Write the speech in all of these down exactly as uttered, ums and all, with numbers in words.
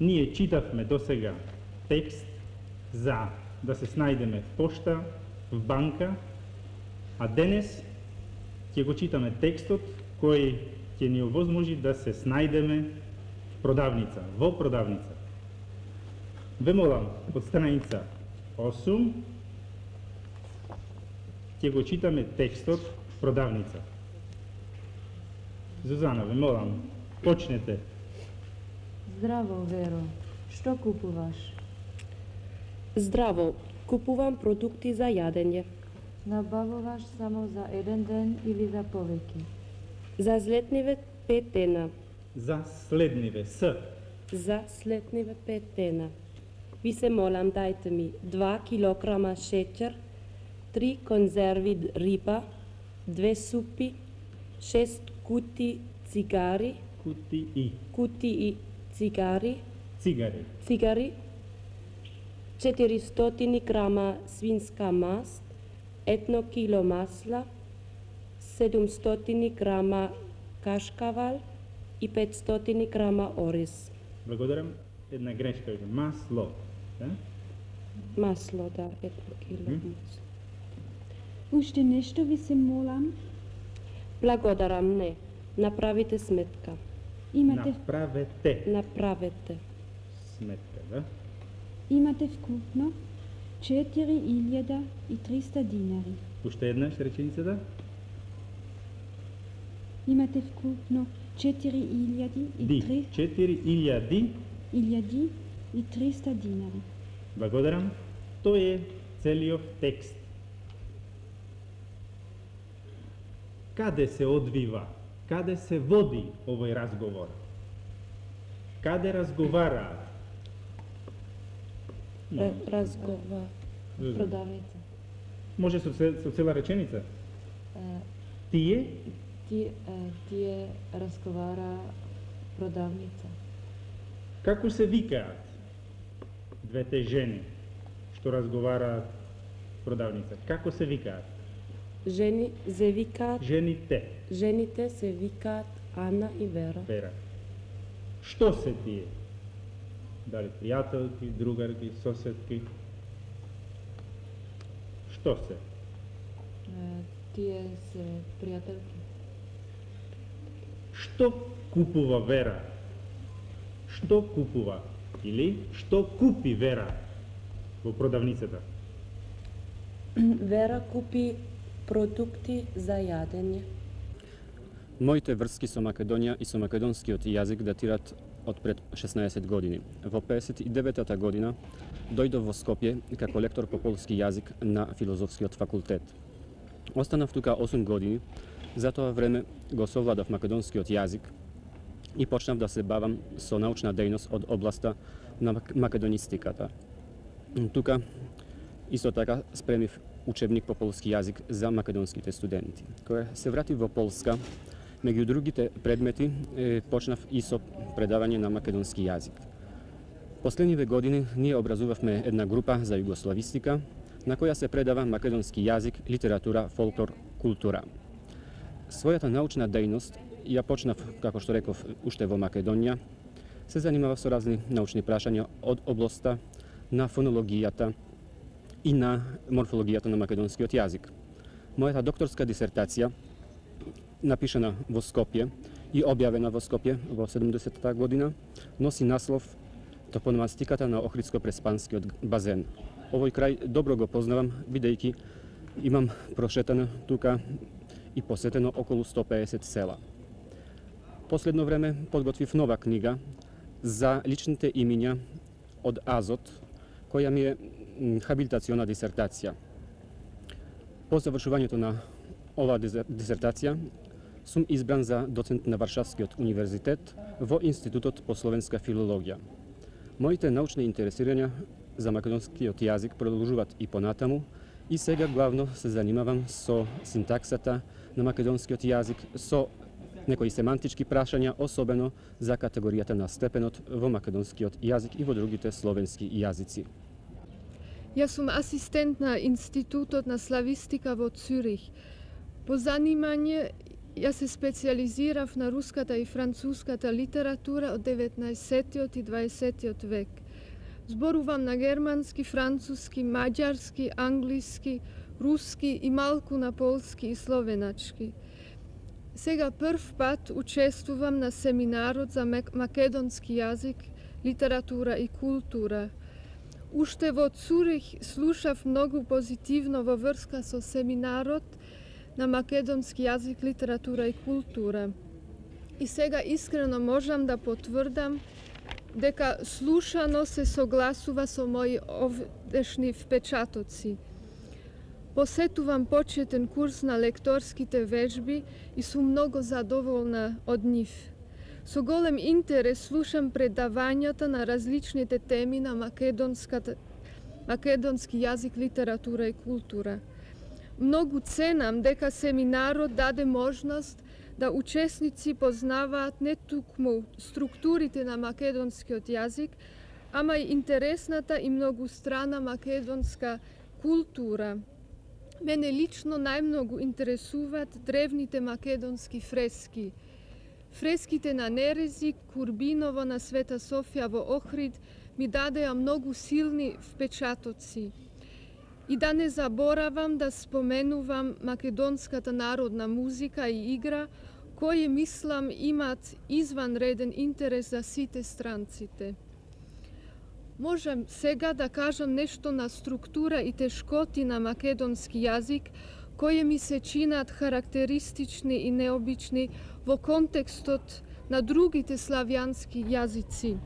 Ние читавме досега текст за да се снајдеме в пошта, в банка, а денес ќе го читаме текстот кој ќе ни овозможи да се снајдеме в продавница, во продавница. Ве молам, од страница осум, ќе го читаме текстот в продавница. Зузана, ве молам, почнете. Здраво, Веро. Што купуваш? Здраво, купувам продукти за јадење. Набавуваш само за еден ден или за повеќе? За следниве пет дена. За следниве, с. За следниве пет дена. Ви се молам, дајте ми два килограма шеќер, три конзерви риба, две супи, шест кути цигари, Кутии. кутии цигари, Цигари. цигари, четиристотини грама свинска маст, едно кило масла, седумстотини грама кашкавал и петстотини грама ориз. Благодарам. Една грешка е масло. Да? Масло, да, едно кило масло. Уште нешто ви се молам? Благодарам, не. Направите сметка. Имате, Направете Направете. сметка, да? имате вкупно четири илјада и триста динари. Уште еднаш реченицата? Имате вкупно четири илјади и Ди. три четири илјади. илјади и триста динари. Благодарам. Тој е целиот текст. Каде се одвива? Каде се води овој разговор? Каде разговараат? Р- Разгова. Зузана. Продавница. Може со, цел- со цела реченица? Е, Тие ти, е, тие разговара продавница. како се викаат двете жени што разговараат продавница? Како се викаат? Жени се викаат, Жените. жените се викаат Ана и Вера. Вера. Што се тие? Дали пријателки, другарки, соседки? Што се? Е, тие се пријателки. Што купува Вера? Што купува? Или што купи Вера во продавницата? Вера купи продукти за јадење. Моите врски со Македонија и со македонскиот јазик датират од пред шеснаесет години. Во педесет и деветата година дојдов во Скопје како лектор по полски јазик на филозофскиот факултет. Останав тука осум години, за тоа време го совладав македонскиот јазик и почнав да се бавам со научна дејност од областа на македонистиката. Тука исто така спремив учебник по полски јазик за македонските студенти. Кога се вратив во Полска, меѓу другите предмети е, почнав и со предавање на македонски јазик. Последниве години ние образувавме една група за југославистика, на која се предава македонски јазик, литература, фолклор, култура. Својата научна дејност ја почнав, како што реков, уште во Македонија. Се занимавав со разни научни прашања од областа на фонологијата и на морфологијата на македонскиот јазик. Мојата докторска дисертација, напишана во Скопје и објавена во Скопје во седумдесетата година, носи наслов Топономастиката на Охридско-Преспанскиот базен. Овој крај добро го познавам, бидејќи имам прошетано тука и посетено околу сто педесет села. Последно време подготвив нова книга за личните имиња од Азот, која ми е хабилитациона дисертација. По завршувањето на оваа дисертација сум избран за доцент на Варшавскиот универзитет во Институтот по словенска филологија. Моите научни интересирања за македонскиот јазик продолжуваат и понатаму и сега главно се занимавам со синтаксата на македонскиот јазик, со некои семантички прашања, особено за категоријата на степенот во македонскиот јазик и во другите словенски јазици. Јас сум асистент на Институтот на славистика во Цюрих. По занимање Јас се специализирав на руската и француската литература од деветнаесеттиот и дваесеттиот век. Зборувам на германски, француски, маѓарски, англиски, руски и малку на полски и словеначки. Сега прв пат учествувам на семинарот за македонски јазик, литература и култура. Уште во Цурих слушав многу позитивно во врска со семинарот на македонски јазик, литература и култура. И сега искрено можам да потврдам дека слушано се согласува со мои овдешни впечатоци. Посетувам почетен курс на лекторските вежби и сум многу задоволна од нив. Со голем интерес слушам предавањата на различните теми на македонската, македонски јазик, литература и култура. Многу ценам дека семинарот даде можност да учесници познаваат не тукму структурите на македонскиот јазик, ама и интересната и многустрана македонска култура. Мене лично најмногу интересуваат древните македонски фрески. Фреските на Нерези, Курбиново на Света Софија во Охрид ми дадеа многу силни впечатоци. И да не заборавам да споменувам македонската народна музика и игра, кои мислам имаат изванреден интерес за сите странците. Можам сега да кажам нешто на структура и тешкоти на македонски јазик, кои ми се чинат характеристични и необични во контекстот на другите славјански јазици.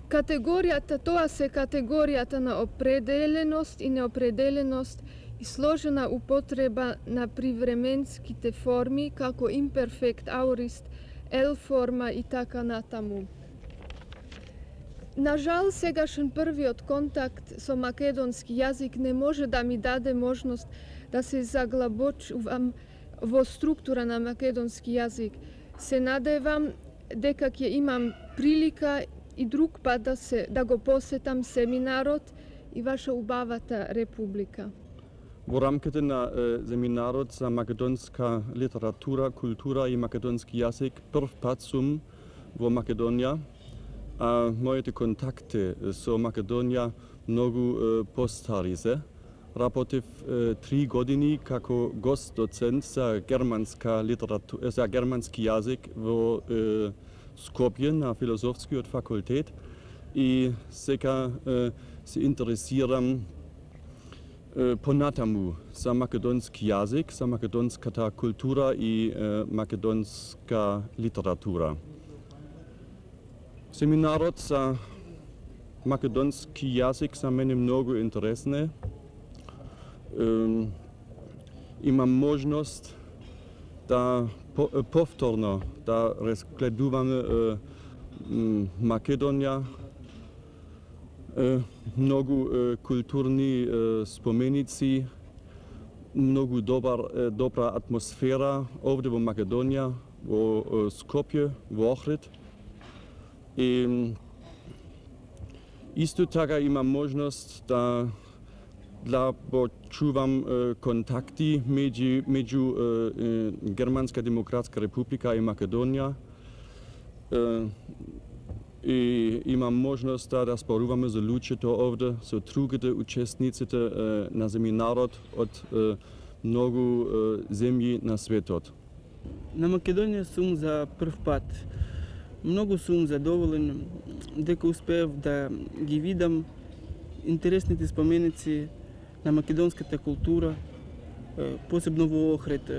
Категоријата, тоа се категоријата на определеност и неопределеност и сложена употреба на привременските форми како имперфект, аурист, ел-форма и така натаму. На жал, сегашен првиот контакт со македонски јазик не може да ми даде можност да се заглабочувам во структура на македонски јазик. Се надевам дека ќе имам прилика и друг пат да, се, да го посетам семинарот и ваша убавата република. Во рамките на е, семинарот за македонска литература, култура и македонски јазик прв пат сум во Македонија. А моите контакти со Македонија многу е, постари се. Работев е, три години како гост-доцент за германска литература, за германски јазик во е, Скопје на филозофскиот факултет и сега е, се интересирам е, понатаму за македонски јазик, за македонската култура и е, македонска литература. Семинарот за македонски јазик за мене многу интересен. Е, имам можност да повторно да разгледуваме е, Македонија, е, многу е, културни е, споменици, многу добар, е, добра атмосфера овде во Македонија, во е, Скопје, во Охрид. И исто така имам можност да да почувам е, контакти меѓу, меѓу е, Германска демократска република и Македонија. Е, и имам можност да разборуваме за луѓето овде, со другите учесниците е, на семинарот од е, многу е, земји на светот. На Македонија сум за прв пат. Многу сум задоволен дека успеав да ги видам интересните споменици на македонската култура, посебно во Охрид,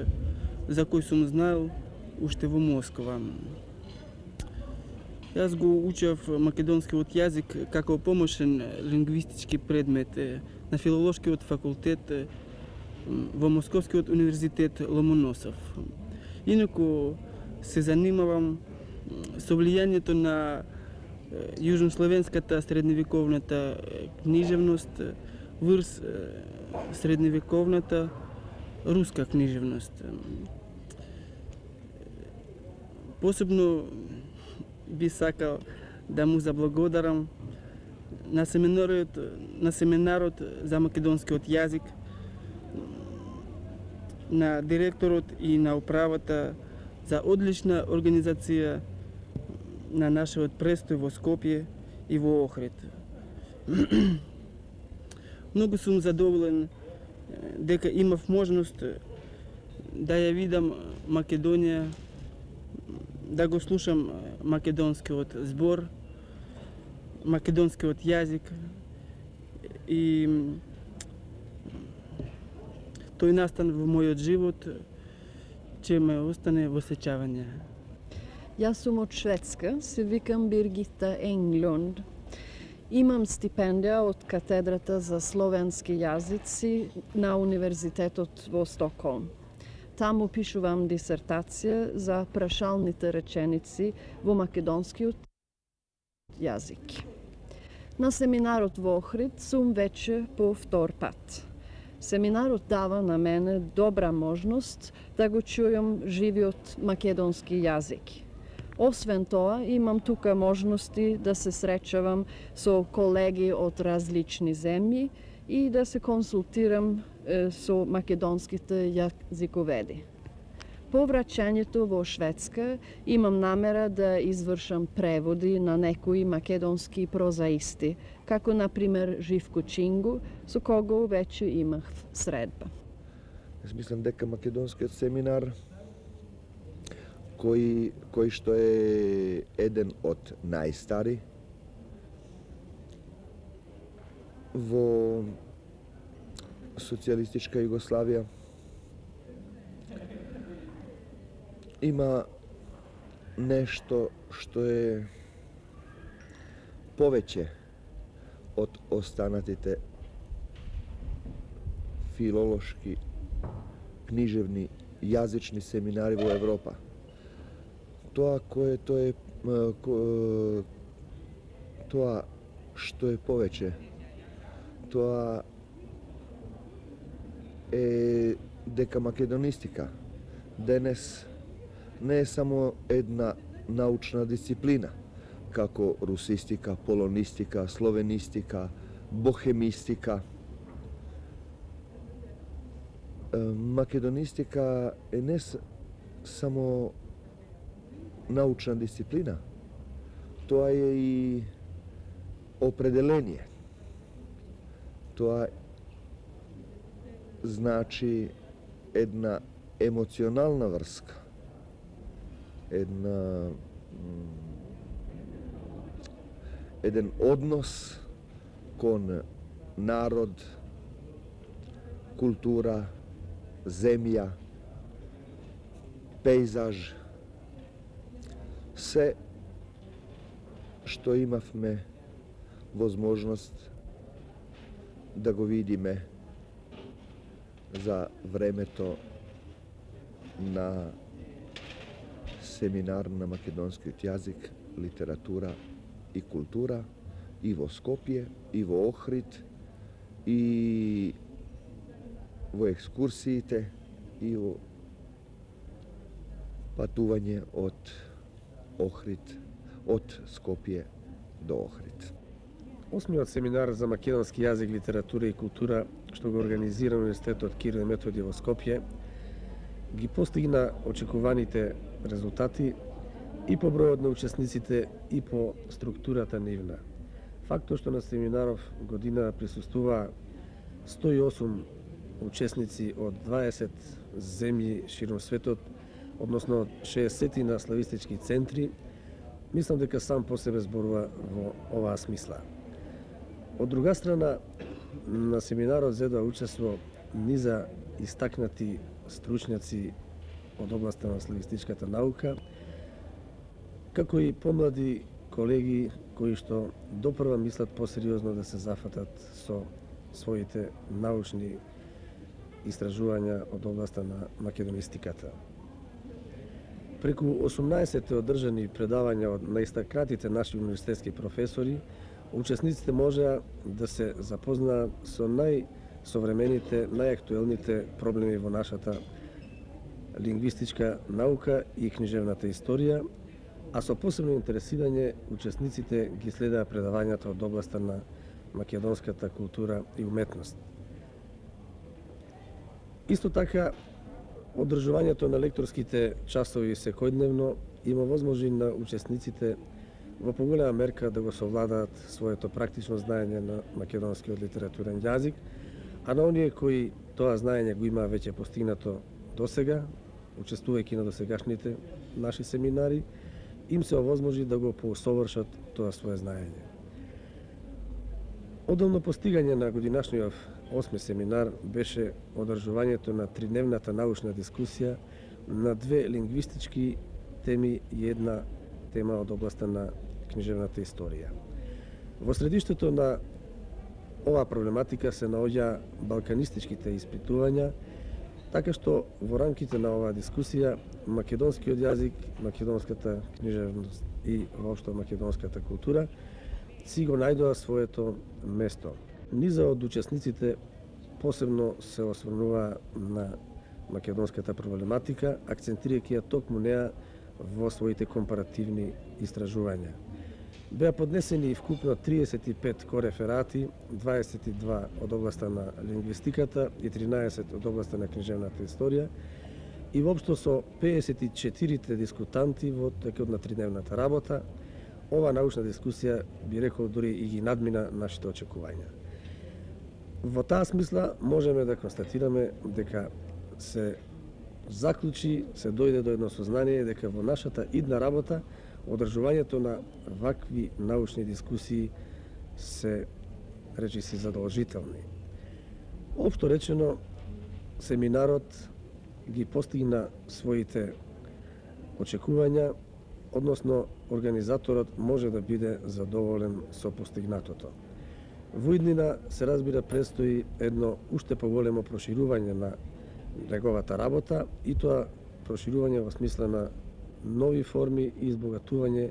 за кој сум знаел уште во Москва. Јас го учев македонскиот јазик како помошен лингвистички предмет на филолошкиот факултет во Московскиот универзитет Ломоносов. Инаку се занимавам со влијанието на јужнословенската средновековната книжевност врз средновековната руска книжевност. Посебно би сакал да му заблагодарам на семинарот, на семинарот за македонскиот јазик, на директорот и на управата за одлична организација на нашиот престој во Скопје и во Охрид. Многу сум задоволен дека имав можност да ја видам Македонија, да го слушам македонскиот збор, македонскиот јазик и тој настан во мојот живот ќе ме остане во сеќавање. Јас сум од Шведска, се викам Биргита Енглунд. Имам стипендија од катедрата за словенски јазици на Универзитетот во Стокхолм. Таму пишувам дисертација за прашалните реченици во македонскиот јазик. На семинарот во Охрид сум веќе по втор пат. Семинарот дава на мене добра можност да го чујам живиот македонски јазик. Освен тоа, имам тука можности да се среќавам со колеги од различни земји и да се консултирам е, со македонските јазиковеди. По враќањето во Шведска имам намера да извршам преводи на некои македонски прозаисти, како например Живко Чингу, со кого веќе имав средба. Јас мислам дека македонскиот семинар кој кој што е еден од најстари во социјалистичка Југославија, има нешто што е повеќе од останатите филолошки, книжевни, јазични семинари во Европа. Тоа кое тоа е тоа што е повеќе, тоа е дека македонистика денес не е само една научна дисциплина, како русистика, полонистика, словенистика, бохемистика. Македонистика е не само научна дисциплина, тоа е и определение. Тоа значи една емоционална врска, една еден однос кон народ, култура, земја, пейзаж, се што имавме возможност да го видиме за времето на семинар на македонскиот јазик, литература и култура и во Скопје, и во Охрид, и во екскурсиите, и во патување од Охрид, од Скопје до Охрид. Осмиот семинар за македонски јазик, литература и култура, што го организира Универзитетот Кирил и Методи во Скопје, ги постигна очекуваните резултати и по бројот на учесниците и по структурата нивна. Фактот што на семинаров година присуствува сто и осум учесници од дваесет земји широм светот, односно шеесет на славистички центри, мислам дека сам по себе зборува во оваа смисла. Од друга страна, на семинарот зедоа учество низа истакнати стручњаци од областа на славистичката наука, како и помлади колеги кои што допрва мислат посериозно да се зафатат со своите научни истражувања од областа на македонистиката. Преку осумнаесет одржани предавања од наистакнатите наши универзитетски професори, учесниците можеа да се запознаат со најсовремените, најактуелните проблеми во нашата лингвистичка наука и книжевната историја, а со посебно интересирање учесниците ги следаа предавањата од областа на македонската култура и уметност. Исто така, Одржувањето на лекторските часови секојдневно има возможи на учесниците во поголема мерка да го совладаат своето практично знаење на македонскиот литературен јазик, а на оние кои тоа знаење го има веќе постигнато досега, учествувајќи на досегашните наши семинари, им се овозможи да го поусовршат тоа свое знаење. Одолно постигање на годинашниот осми семинар беше одржувањето на тридневната научна дискусија на две лингвистички теми и една тема од областа на книжевната историја. Во средиштето на оваа проблематика се наоѓа балканистичките испитувања, така што во рамките на оваа дискусија македонскиот јазик, македонската книжевност и воопшто македонската култура си го најдоа своето место. Низа од учесниците посебно се осврнува на македонската проблематика, акцентирајќи ја токму неа во своите компаративни истражувања. Беа поднесени вкупно триесет и пет кореферати, дваесет и два од областа на лингвистиката и тринаесет од областа на книжевната историја и воопшто со педесет и четири дискутанти во текот на тридневната работа. Ова научна дискусија, би рекол, дури и ги надмина нашите очекувања. Во таа смисла можеме да констатираме дека се заклучи, се дојде до едно сознание дека во нашата идна работа одржувањето на вакви научни дискусии се речиси задолжителни. Општо речено, семинарот ги постигна своите очекувања, односно организаторот може да биде задоволен со постигнатото. Во иднина се разбира престои едно уште поголемо проширување на неговата работа и тоа проширување во смисла на нови форми и избогатување